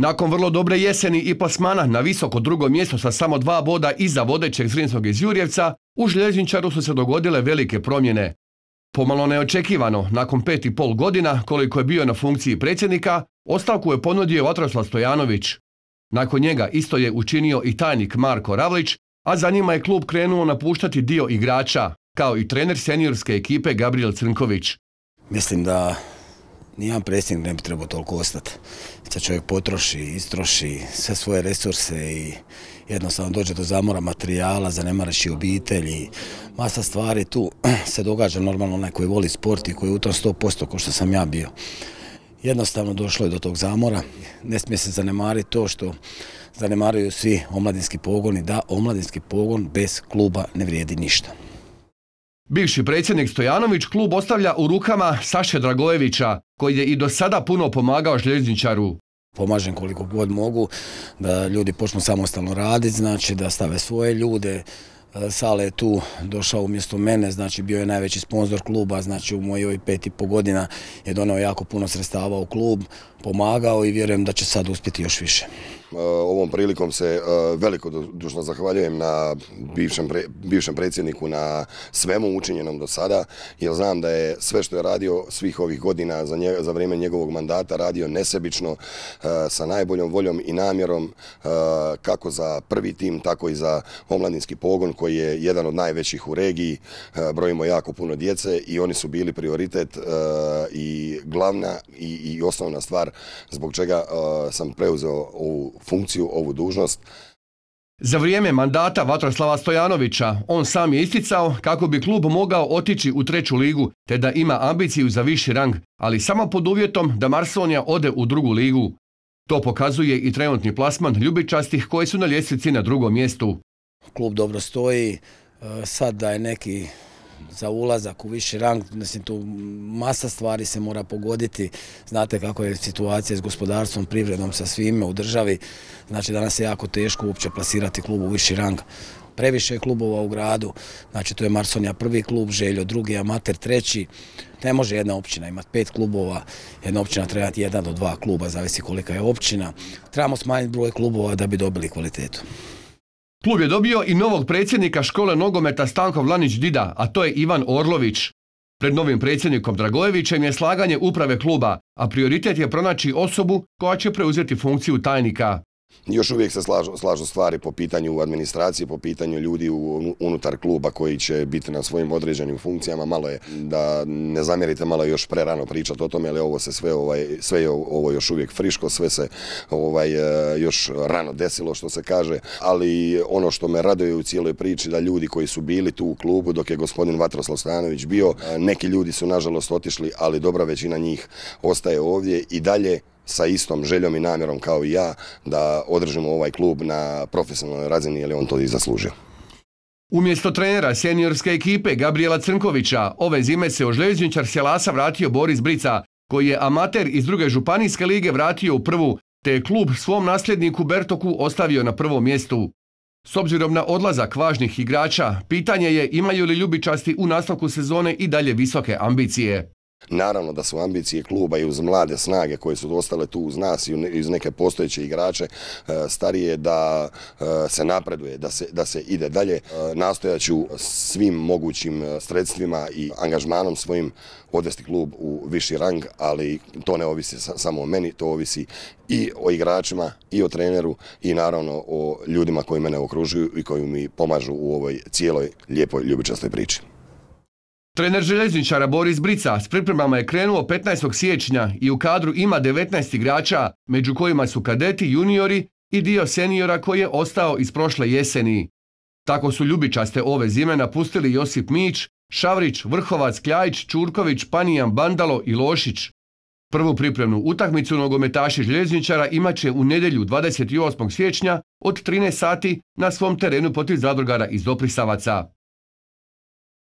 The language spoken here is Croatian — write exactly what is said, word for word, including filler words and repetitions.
Nakon vrlo dobre jeseni i plasmana na visoko drugo mjesto sa samo dva boda iza vodećeg Zrinskog iz Jurjevca, u Željezničaru su se dogodile velike promjene. Pomalo neočekivano, nakon pet i pol godina koliko je bio na funkciji predsjednika, ostavku je ponudio Vatroslav Stojanović. Nakon njega isto je učinio i tajnik Marko Ravlić, a za njima je klub krenuo napuštati dio igrača, kao i trener seniorske ekipe Gabriel Crnković. Mislim da nijedan predsjednik ne bi trebao toliko ostati. Sad čovjek potroši, istroši sve svoje resurse i jednostavno dođe do zamora materijala, zanemareći obitelji. Masa stvari tu se događa, normalno onaj koji voli sport i koji je u tom sto posto ko što sam ja bio. Jednostavno došlo je do tog zamora. Ne smije se zanemariti to što zanemaruju svi omladinski pogoni, da omladinski pogon bez kluba ne vrijedi ništa. Bivši predsjednik Stojanović klub ostavlja u rukama Saše Dragojevića, koji je i do sada puno pomagao Željezničaru. Pomažem koliko god mogu da ljudi počnu samostalno raditi, znači da stave svoje ljude. Sale je tu došao umjesto mene, znači bio je najveći sponzor kluba, znači u mojoj pet i po godina je donio jako puno sredstava u klub, pomagao i vjerujem da će sad uspjeti još više. Ovom prilikom se velikodušno zahvaljujem na bivšem, pre, bivšem predsjedniku na svemu učinjenom do sada, jer znam da je sve što je radio svih ovih godina za, nje, za vrijeme njegovog mandata radio nesebično, sa najboljom voljom i namjerom, kako za prvi tim, tako i za omladinski pogon koji je jedan od najvećih u regiji. Brojimo jako puno djece i oni su bili prioritet i glavna i, i osnovna stvar zbog čega sam preuzeo ovu funkciju, ovu dužnost. Za vrijeme mandata Vatroslava Stojanovića on sam je isticao kako bi klub mogao otići u treću ligu te da ima ambiciju za viši rang, ali samo pod uvjetom da Marsonija ode u drugu ligu. To pokazuje i trenutni plasman ljubičastih koji su na ljestvici na drugom mjestu. Klub dobro stoji, sad da je neki za ulazak u viši rang, mislim tu masa stvari se mora pogoditi. Znate kako je situacija s gospodarstvom, privredom, sa svime u državi. Znači danas je jako teško uopće plasirati klub u viši rang. Previše je klubova u gradu, znači to je Marsonija prvi klub, Željo drugi, Amater treći. Ne može jedna općina imati pet klubova, jedna općina treba imati jedan do dva kluba, zavisi kolika je općina. Trebamo smanjiti broj klubova da bi dobili kvalitetu. Klub je dobio i novog predsjednika škole nogometa Stanko Vlanić-Dida, a to je Ivan Orlović. Pred novim predsjednikom Dragojevićem je slaganje uprave kluba, a prioritet je pronaći osobu koja će preuzeti funkciju tajnika. Još uvijek se slažu, slažu stvari po pitanju administracije, po pitanju ljudi u, unutar kluba koji će biti na svojim određenim funkcijama. Malo je, da ne zamjerite, malo je još prerano pričati o tome, ali ovo se sve, ovaj, sve je ovo još uvijek friško, sve se ovaj, još rano desilo, što se kaže, ali ono što me raduje u cijeloj priči da ljudi koji su bili tu u klubu dok je gospodin Vatroslav Stojanović bio, neki ljudi su nažalost otišli, ali dobra većina njih ostaje ovdje i dalje sa istom željom i namjerom kao i ja da održimo ovaj klub na profesionalnoj razini, jer je on to i zaslužio. Umjesto trenera seniorske ekipe Gabriela Crnkovića, ove zime se u Željezničar Sjelasa vratio Boris Brica, koji je amater iz druge županijske lige vratio u prvu, te je klub svom nasljedniku Bertoku ostavio na prvom mjestu. S obzirom na odlazak važnih igrača, pitanje je imaju li ljubičasti u nastavku sezone i dalje visoke ambicije. Naravno da su ambicije kluba i uz mlade snage koje su ostale tu uz nas i uz neke postojeće igrače starije da se napreduje, da se, da se ide dalje. Nastojat ću svim mogućim sredstvima i angažmanom svojim odvesti klub u viši rang, ali to ne ovisi samo o meni, to ovisi i o igračima, i o treneru i naravno o ljudima koji mene okružuju i koji mi pomažu u ovoj cijeloj lijepoj ljubičastoj priči. Trener Željezničara Boris Brica s pripremama je krenuo petnaestog siječnja i u kadru ima devetnaest igrača, među kojima su kadeti, juniori i dio seniora koji je ostao iz prošle jeseni. Tako su ljubičaste ove zime napustili Josip Mić, Šavrić, Vrhovac, Kljajić, Čurković, Panijan, Bandalo i Lošić. Prvu pripremnu utakmicu nogometaši Željezničara imat će u nedjelju dvadeset osmog siječnja od trinaest sati na svom terenu protiv Zadrugara iz Doprisavaca.